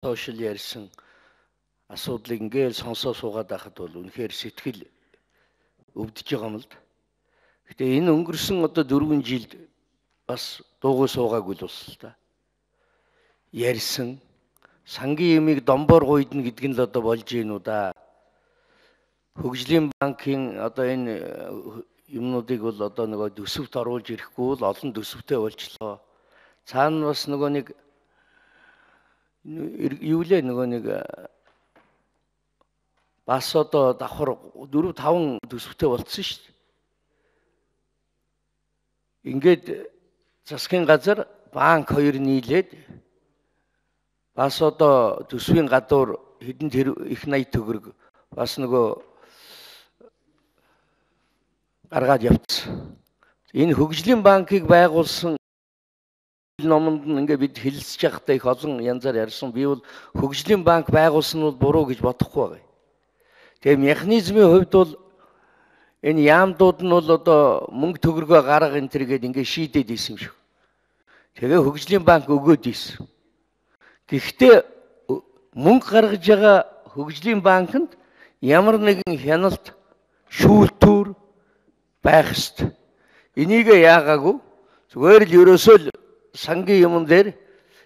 сошиал ярьсан асуудлыг ингээл сонсоо суугаад байхад бол үнэхээр сэтгэл өвдөж байгаа юм л да. Гэтэ энэ өнгөрсөн одоо 4 жилд бас дуугүй суугаагүй л бас л да. Ярьсан сангийн ямиг домбоор гуйдна гэдэг нь л одоо болж гин үү да. Хөгжлийн банкын одоо энэ юмнуудыг бол одоо нөгөө төсөвт оруулж ирэхгүй бол олон төсөвтэй болчлоо. Цаана бас нөгөө нэг юу лээ нөгөө нэг бас одоо давхар 4-5 төсөвтэй болцсон шүү дээ. Ингээд засгийн газар банк хоёр нийлээд бас одоо төсвийн гадуур хэдэн их 80 төгрөг бас нөгөө гаргаад явцсан. Энэ хөгжлийн банкыг байгуулсан номонд нь ингээ бид хэлэлцэж байхдаа их олон янзаар ярьсан. Би бол хөгжлийн банк байгуулсан нь бол буруу гэж бодохгүй байгаа. Тэгээ механизмын хувьд бол энэ яамдууд нь бол одоо мөнгө төгрөгөө гарга энэ төр гээд ингээ шийдээд исэн юм шиг. Тэгээ хөгжлийн банк өгөөд исэн. Гэхдээ мөнгө гаргаж байгаа хөгжлийн банкнд ямар нэгэн хяналт шүүлтүүр байх ёстой. Энийг яагаагүй зүгээр л ерөөсөө л сангийн юмн дээр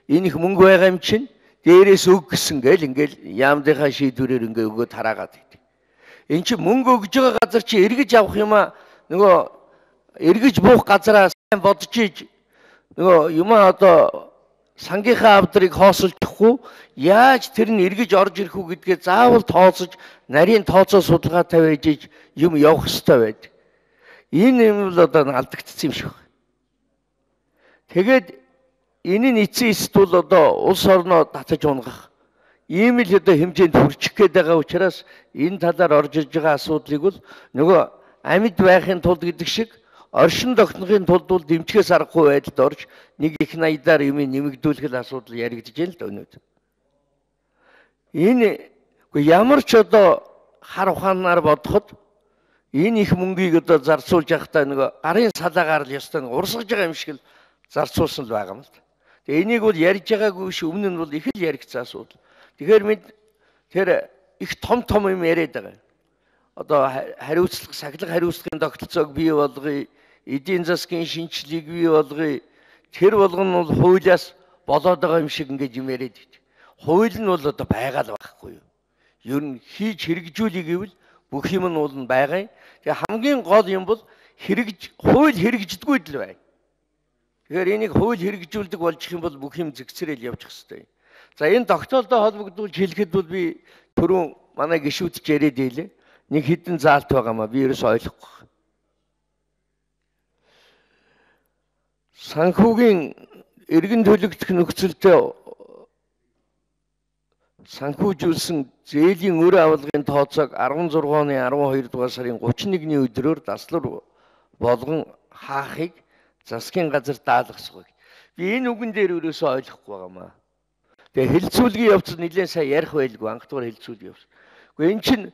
энэ их мөнгө байгаа юм чинь дээрээс өг гисэн гээл ингээл яамдынхаа шийдвэрээр ингээ өгөөд хараагаад байт. Энд чинь мөнгө өгж байгаа газар чи эргэж авах юм аа нөгөө эргэж буух газараа сайн бодож ийж нөгөө юмаа одоо сангийнхаа авдрыг хоосолдохгүй яаж тэр нь эргэж орж ирэх үү гэдгээ заавал тооцож нарийн тооцоо судалгаа тавиаж ийж юм явах ёстой байдаг. Энэ юм бол одоо алдагдсан юм шиг. Тэгээд энэ нь эцсийн эцэд бол одоо улс орноо татаж унгах ийм л одоо хэмжээнд хүрчих гээд байгаа учраас энэ талаар орж иж байгаа асуудлыг бол нөгөө амьд байхын тулд гэдэг шиг оршин тогтнохын тулд бол дэмжихээс аргагүй байдалд орж нэг их 80-аар юм нэмэгдүүлэх асуудал яригдж байна л да өнөөдөр. Энэ ямар ч одоо хар ухаанаар бодоход энэ их мөнгийг одоо зарцуулж явахдаа нөгөө гарын салаагаар л ёстой нэг урсгаж байгаа юм шиг л зарцуулсан л байгаа юм л да. Тэгээ энийг бол ярьж байгаагүй ш өмнө нь бол их л яригдсан асуудал. Тэгэхээр бид тэр их том юм яриад байгаа. Одоо хариуцлага сахилга хариуцлагын тогтолцоог бий болгоё, эдийн засгийн шинжилгээг бий болгоё. Тэр болгоно бол хуулиас болоод байгаа юм шиг ингэж юм яриад байт. Хууль нь бол одоо байгаа л байхгүй юу? Ер нь хийж хэрэгжүүлэх гэвэл бүх юм нь бол байгаа. Тэгээ хамгийн гол юм бол хууль хэрэгждэггүй л байна. Тэгэхээр энийг хууль хэрэгжүүлдэг болчих юм бол бүх юм зэгцрэл явчих хэвээр. За энэ тогтоолтой холбогдуулж хэлэхэд бол би түрүүн манай гишүүдч яриад ийлээ. Нэг хідэн заалт байгаамаа би ерөөс ойлгохгүй. Санхүүгийн эргэн төлөгдөх нөхцөлтэй санхүүжүүлсэн зээлийн өр авалгын тооцоог 16 оны 12 дугаар сарын 31-ний өдрөөр даслар болгон хаахыг засгийн газар даалгасгүй. Би энэ үгэн дээр ерөөсөө ойлгохгүй байгаамаа. Тэгээ хэлцүүлгийн явц нэлээд сайн ярих байлгүй анх дугаар хэлцүүлгийн явц. Гэхдээ эн чинь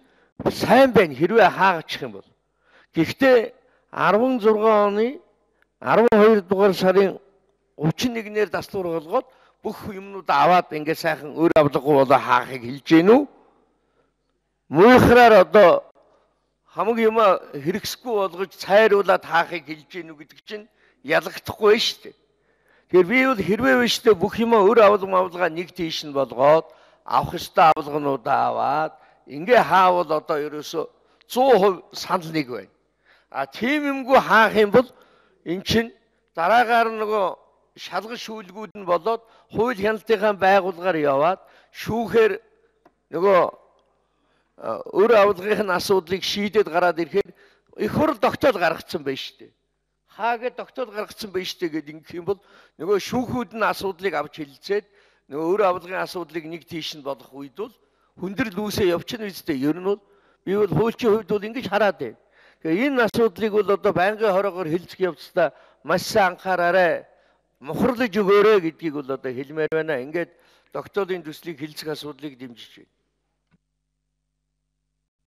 сайн байна хэрвээ хаагачих юм бол. Гэхдээ 16 оны 12 дугаар сарын 31-ээр даслуур болгоод бүх юмнууд аваад ингээ сайхан өр авлаггүй болоо хаахыг хэлж гэнэ үү? Муухраар одоо хамаг юм хэрэгсэхгүй болгож цайруулаад хаахыг хэлж гэнэ үү гэдэг чинь ялагдахгүй шүү дээ. Тэгэхээр би бол хэрвээ биш дээ бүх юм өр авалгаа нэг тийш нь болгоод авах ёстой авалгануудаа аваад ингээ хаавал одоо ерөөсө 100% санал нэг байна. А тийм юмгүй хаах юм бол эн чинь дараагаар нөгөө шалгал шүүлгүүд нь болоод хууль хяналтынхаа байгууллагаар яваад шүүхээр нөгөө өр авалгын асуудлыг шийдээд гараад ирэхээр их хурл тогтоол гаргацсан байна шүү дээ. Хаагээд тогтоол гаргацсан байна шүү дээ гэдэг ингэх юм бол нөгөө шүүхүүд нь асуудлыг авч хэлэлцээд нөгөө өр авалгын асуудлыг нэг тийш нь болох үед бол хүндрэл үүсээ явчихна үстэй. Ер нь бол би бол хуульчийн хувьд бол ингэж хараад байна. Тэгээ энэ асуудлыг бол одоо байнгын хорогоор хэлцэх явцдаа маш сайн анхаараарай. Мухарлаж өгөөрэй гэдгийг бол одоо хэлмээр байна. Ингээд тогтоолын төслийг хэлцэх асуудлыг дэмжиж байна.